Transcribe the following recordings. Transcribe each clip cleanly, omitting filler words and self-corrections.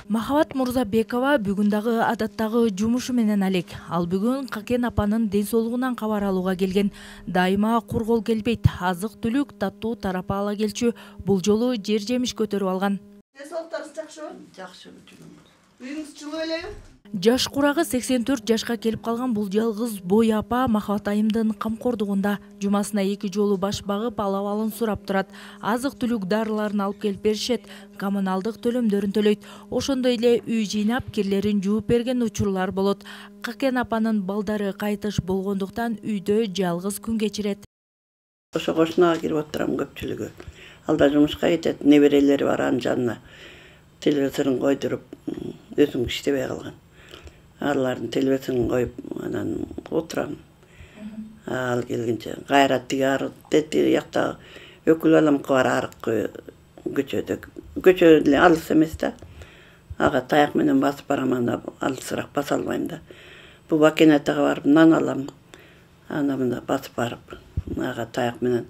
Махабат Мурзабекова бүгүн дагы адаттагы жумушу менен алек. Ал бүгүн Какен апанын ден соолугунан кабар алууга келген. Дайыма кургол келбейт. Азык-түлүк, таттуу тарапа ала келчү. Бул жолу жер жемиш көтөрүп алган. Ден соолуктарыңыз жакшыбы? Жакшы. Үйүңүз жылуу элеби? Жаш курагы 84 жашка келип калган бул жалгыз бой апа Махабат айымдын камкордугунда. Жумасына 2 жолу баш багып, алабалын сурап турат. Азык-түлүк дарыларын алып келип беришет, коммуналдык төлөмдөрүн төлөйт. Ошондой эле үй жыйнап, кирлерин жууп берген учурлар болот. Какен апанын балдары кайтыш болгондуктан үйдө жалгыз күн кечирет. Ошо кошунага кирип отурам көпчүлүгү. Ал да жумушка кетет, неберелери бар анын жанына. Телевизорун койдуруп, өзүм иштебей калган. Алардын телевизорун коюп, анан отурам. Ал келгенче кайра тиги жакта өкүл баламыкы бар аркы көчөдө. Көчө эле алыс эмес да. Ага таяк менен басып барам, анда алысыраак баса албайм да. Бул Бакенатага барып нан алам. Анда мында басып барып, ага таяк менен.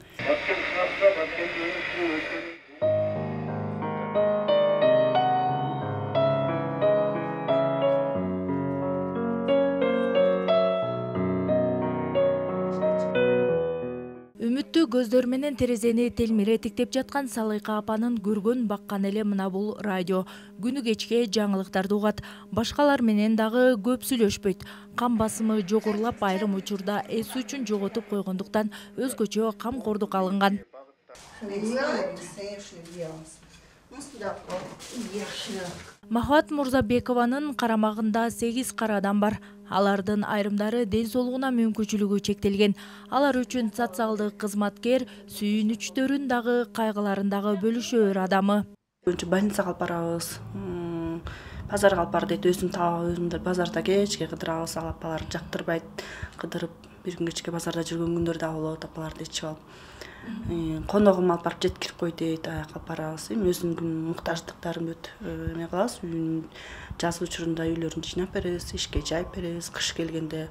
Үмүттүү көздөр менен терезени телмире тиктеп жаткан Салыйка апанын көргөн баккан эле мына бул радио. Күнү кечке жаңылыктарды угат. Башкалар менен дагы көп сүйлөшпөйт. Кан басымы жогорулап, айрым учурда эс үчүн жоготуп койгондуктан өзгөчө камкордук алынган. Махабат Мурзабекованын карамагында 8 кара адам бар. Алардын айрымдары ден соолугуна мүмкүнчүлүгү чектелген. Алар үчүн социалдык кызматкер сүйүнүчтөрүн дагы, кайгыларын дагы бөлүшөөр адамы. Больницага алып барабыз. Базарга алып бар дейт, өзүм таап, өзүм базарда кечке кыдырабыз, ал апалар жактырбайт. Кыдырып, бир күн кечке базарда жүргөн күндөр да болот, апаларды ичип алып. Коногум алып барып жеткирип кой дейт, аяка алып барабыз. Өзүмдүн муктаждыктарын бүт эме кылабыз. Жаз учурунда үйлөрүн жыйнап беребиз, ишке жайып беребиз. Кыш келгенде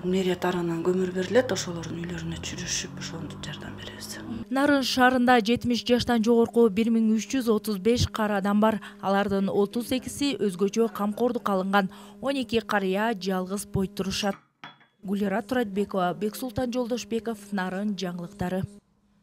мэрия тарабынан көмүр берилет, ошолордун үйлөрүнө чүрүшүп, ошону жардам беребиз. Нарын шаарында 70 жаштан жогорку 1335 кара адам бар. Алардын 38и өзгөчө камкордук алынган. 12 карыя жалгыз бой турушат. Гулира Туратбекова, Бексултан Жолдошбеков, Нарын жаңылыктары.